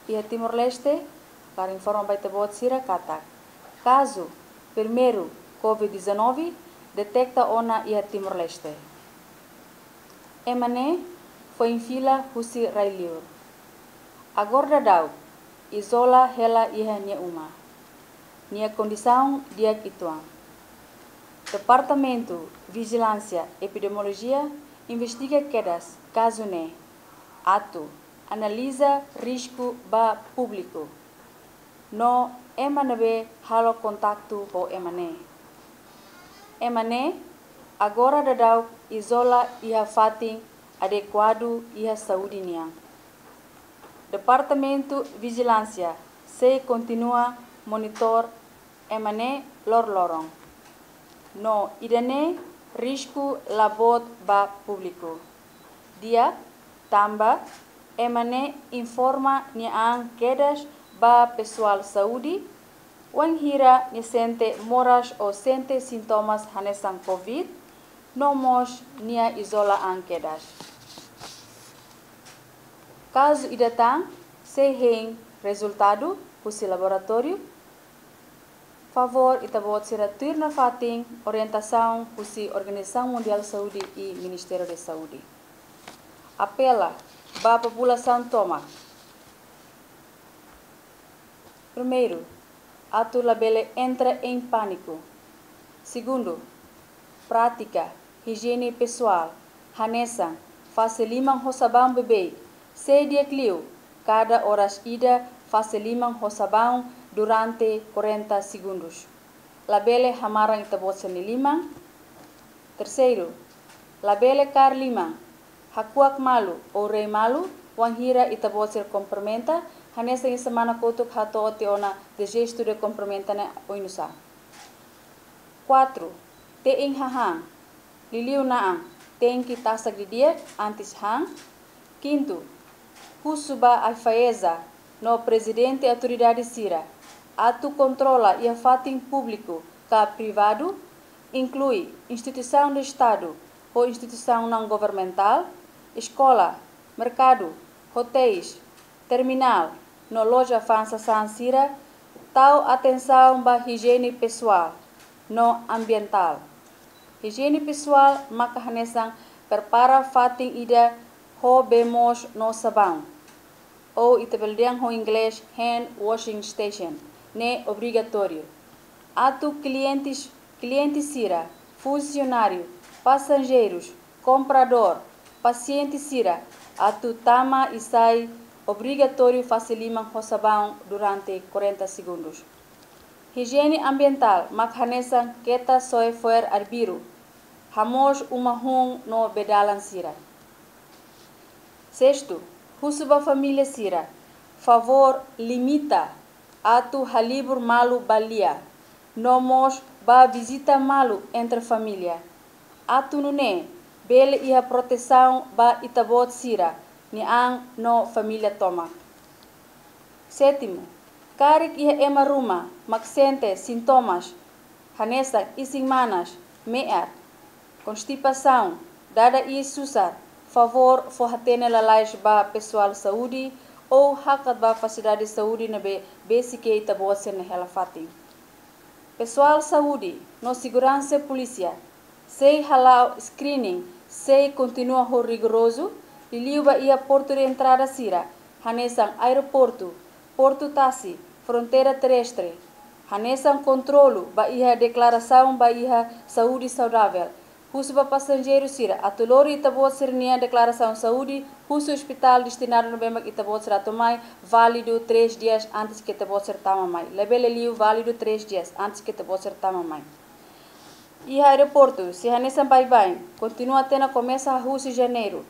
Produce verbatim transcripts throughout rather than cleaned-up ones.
Iha Timor-Leste, hakarak informa ba ita-boot sira katak kazu primeiru COVID dezanove deteta ona iha Timor-Leste. Ema ne'e foin fila husi rai-li'ur. Agora daudaun izola hela iha nia uma. Nia kondisaun di'ak uitoan. Departamentu Vijilánsia Epidemiolojia investiga kedas kazu ne'e atu analiza risku ba públiku no ema ne'ebé halo kontaktu ho ema ne'e. Ema ne'e agora daudaun izola iha fatin adekuadu iha saúde nian. Departamentu Vijilánsia sei kontinua monitor ema ne'e loroloron. No ida-ne'e risku la boot ba públiku. Di'ak, tanba ema ne'e informa nia an kedas ba pesoál saúde wainhira nia sente moras ou sente sintomas hanesan COVID, no mós nia izola an kedas. Kazu ida tan sei hein rezultadu husi laboratóriu, favór ita-boot sira tuir nafatin orientasaun husi Organizasaun Mundiál Saúde i Ministériu Saúde. Apela ba populasaun tomak. Primeiru, atu labele entra em pániku. Segundu, prátika ijiene pesoál, hanesan fase liman ho sabaun beibeik, sei di'ak liu kada oras ida fase liman ho sabaun durante quarenta segundos. Labele hamaran ita-boot sira-nia liman. Terseiru, labele kaer liman, hakuak malu ou rei malu wainhira ita-boot sira kumprimenta, hanesan iha semana kotuk hato'o tiha ona de gesto de cumprimenta ne'e oinsá. Quatro, te'in hahán, liuliu na'an tenke tasak didi'ak antes han. Quinto, husu ba AIFAESA no prezidente autoridade sira atu kontrola iha fatin públiku ka privadu, inklui instituisaun de Estadu ho instituisaun naun-governamentál, eskola, merkadu, hotéis, terminál no loja fa'an sasán sira, tau atensaun ba ijiene pesoál no ambientál. Ijiene pesoál maka hanesan prepara fatin ida ho bee moos no sabaun, ou ita bele dehan ho inglés hand washing station, ne'e obrigatóriu. Atu klientes, kliente sira, funsionáriu, pasajeirus, kompradór, pasiente sira atu tama i sai obrigatóriu fase liman ho sabaun durante quarenta segundos. Ijiene ambientál mak hanesan keta soe fo'er arbiru, hamoos uma hun no bee-dalan sira. Sexto, husu ba família sira, favór limita atu halibur malu ba lia, no mós ba vizita malu entre família. Atu nune'e bele iha protesaun ba ita-boot sira-nia an no família tomak. Sétimo, karik iha ema ruma mak sente sintomas hanesan isin-manas, me'ar, konstipasaun, dada iis susar, favór fó-hatene lalais ba pesoál saúde ou hakat ba fasilidade saúde ne'ebé besik iha ita-boot sira-nia hela fatin. Pesoál saúde no seguransa polísia sei hala'o screening, sei kontinua ho rigorozu, liuliu ba iha portu de entrada sira, hanesan aeroportu, portu tasi, fronteira terrestre, hanesan kontrolu ba iha deklarasaun ba iha saúde saudável. Husu ba pasajeiru sira atu lori ita-boot sira-nia deklarasaun saúde husi ospitál destinadu ne'ebé mak ita-boot sira atu mai, válidu três dias antes ke ita-boot sira tama mai. Labele liu, válidu três dias antes ke ita-boot sira tama mai. Iha aeroportu, se hanesan baibain, kontinua tiha ona, komesa husi Janeiru.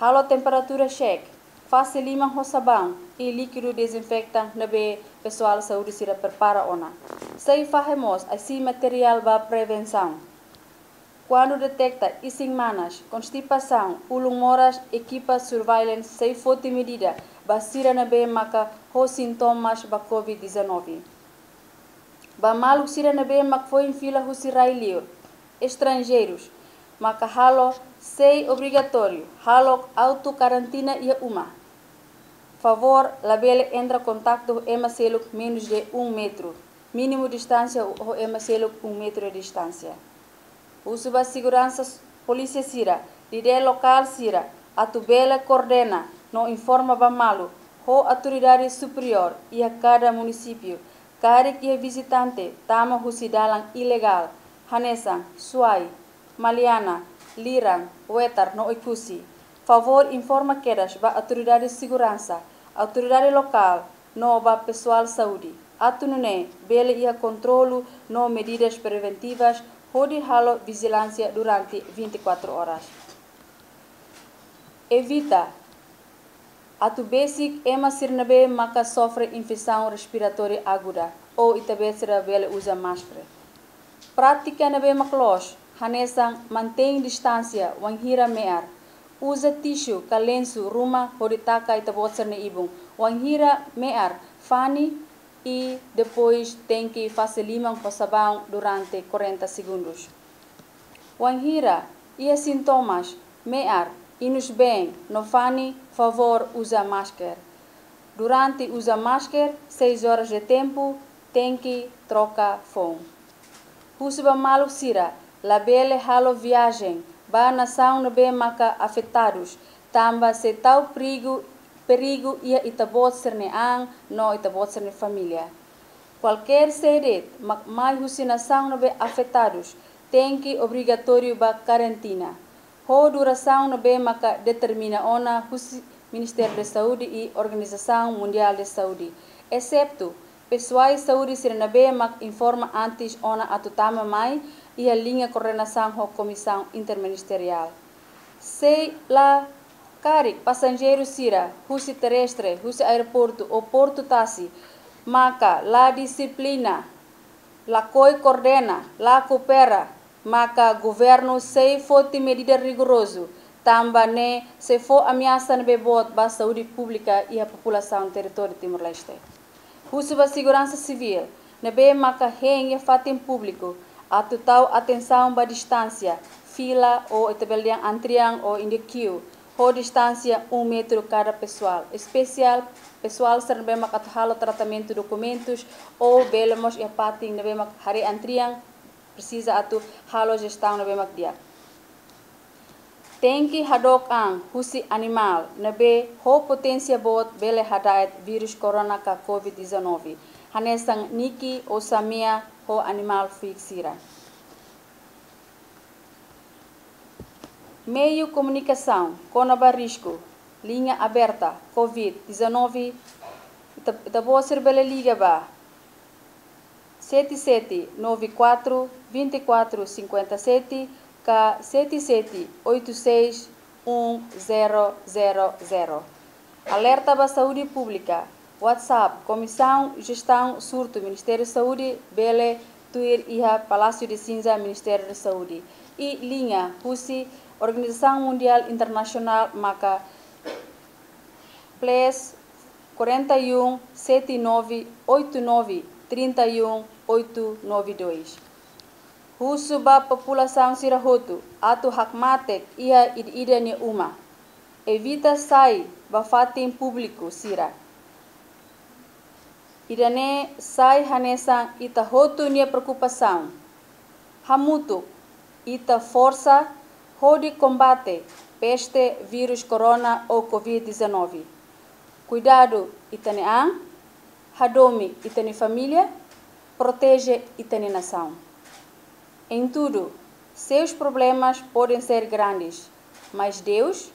Halo temperatura check, fase liman ho sabaun i líkidu dezinfetante ne'ebé pesoál saúde sira prepara ona. Sei fahe mós ai-siin materiál ba prevensaun. Kuandu deteta isin-manas, konstipasaun, ulun moras, ekipa surveillance sei foti medida ba sira ne'ebé maka ho sintomas ba COVID dezanove. Ba maluk sira ne'ebé mak foin fila husi rai-liur, estranjeirus, maka halo sei obrigatóriu halo auto-karantina iha uma. Favór labele entra kontaktu ho ema seluk menus de um metru. Mínimu distánsia ho ema seluk um metru de distánsia. Husu ba seguransa s-, polísia sira, líder lokál sira, atu bele koordena no informa ba malu ho autoridade superiór iha kada munisípiu, karik iha vizitante tama husi dalan ilegál, hanesan Suai, Maliana, Liran, Wetar no Oekusi. Favór informa kedas ba autoridade seguransa, autoridade lokál no ba pesoál saúde, atu nune'e bele iha kontrolu no medidas preventivas hodi halo vijilánsia durante vinte e quatro horas. Evita atu besik ema sira ne'ebé maka sofre infesaun respiratória aguda ou ita-boot sira bele uza máskara. Prátika ne'ebé mak loos, hanesan mantein distánsia wainhira me'ar, uza tisu ka lensu ruma hodi taka ita-boot sira-nia ibun wainhira me'ar, fani i depois tenke fase liman ho sabaun durante quarenta segundus. Wainhira iha sintomas me'ar, inus-been no fani, favór uza máskara. Durante uza máskara, seis horas de tempu, tenke troka foun. Husu ba maluk sira labele halo viajen ba nasaun ne'ebé maka afetadus, tanba sei tau perigu, perigu iha ita-boot sira-nia an no ita-boot sira-nia família. Kualkér sé de'it mak mai husi nasaun ne'ebé afetadus, tenke obrigatóriu ba karantina ho durasaun ne'ebé maka determina ona husi Ministériu de Saúde i Organizasaun Mundiál de Saúde, eseptu pesoál saúde sira ne'ebé mak informa antes ona atu tama mai iha liña koordenasaun ho Komisaun Interministeriál. Sei la karik pasajeiru sira husi terrestre, husi aeroportu ou portu tasi, maka la dixiplina, lakohi koordena, la koopera, maka governu sei foti medida rigorozu, tanba ne'e sei fó ameasa ne'ebé boot ba saúde públika iha populasaun territóriu Timor-Leste. Husu ba seguransa sivíl ne'ebé maka hein iha fatin públiku atu tau atensaun ba distánsia, fila ou ita bele dehan antrian ou in the queue, ho distánsia um metru kada pesoál. Espesiál pesoál sira ne'ebé mak atu halo tratamentu dokumentus ou bele mós iha fatin ne'ebé mak haree antrian, presiza atu halo jestaun ne'ebé mak di'ak. Tenke hadook an husi animál ne'ebé ho poténsia boot bele hada'et vírus corona ka covid dezanove, hanesan niki ou samea ho animál fuik sira. Meiu komunikasaun kona-ba risku, liña aberta covid dezanove, ita, ita-boot sira bele liga ba sete sete nove quatro, vinte e quatro cinquenta e sete ka sete sete oito seis um zero zero zero. Alerta ba saúde públika, WhatsApp, Komisaun Jestaun Surtu, Ministériu Saúde, bele tuir iha Palásiu de Sinja, Ministériu Saúde. I liña husi Organizasaun Mundiál Internasionál maka plus quarenta e um, sete nove, oito nove, trinta e um, oito nove dois. Husu ba populasaun sira hotu atu hakmatek iha ida-idak nia uma. Evita sai ba fatin públiku sira. Ida-ne'e sai hanesan ita hotu nia preokupasaun. Hamutuk ita forsa hodi kombate peste vírus corona ou covid dezanove. Kuidadu ita-nia an, hadomi ita-nia família, proteje ita-nia nasaun. Em tudo, seus problemas podem ser grandes, mas Deus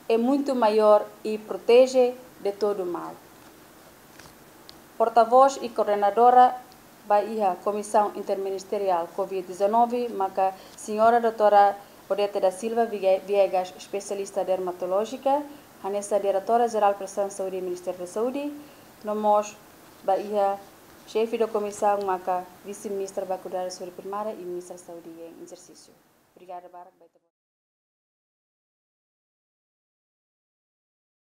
é muito maior e protege de todo mal. Portavós i koordenadora ba iha Komisaun Interministeriál covid dezanove, maka Señora doutora Odete da Silva Viga-, Viegas, espesialista dermatolójika, hanesan Diretora Jerál Prestasaun Saúde, Ministériu Saúde, no mós ba iha Xefe da Komisaun, maka Vise-Ministra ba Kuidadu Saúde Primária i Ministra Saúde em exercício. Obrigada barak ba ita-boot.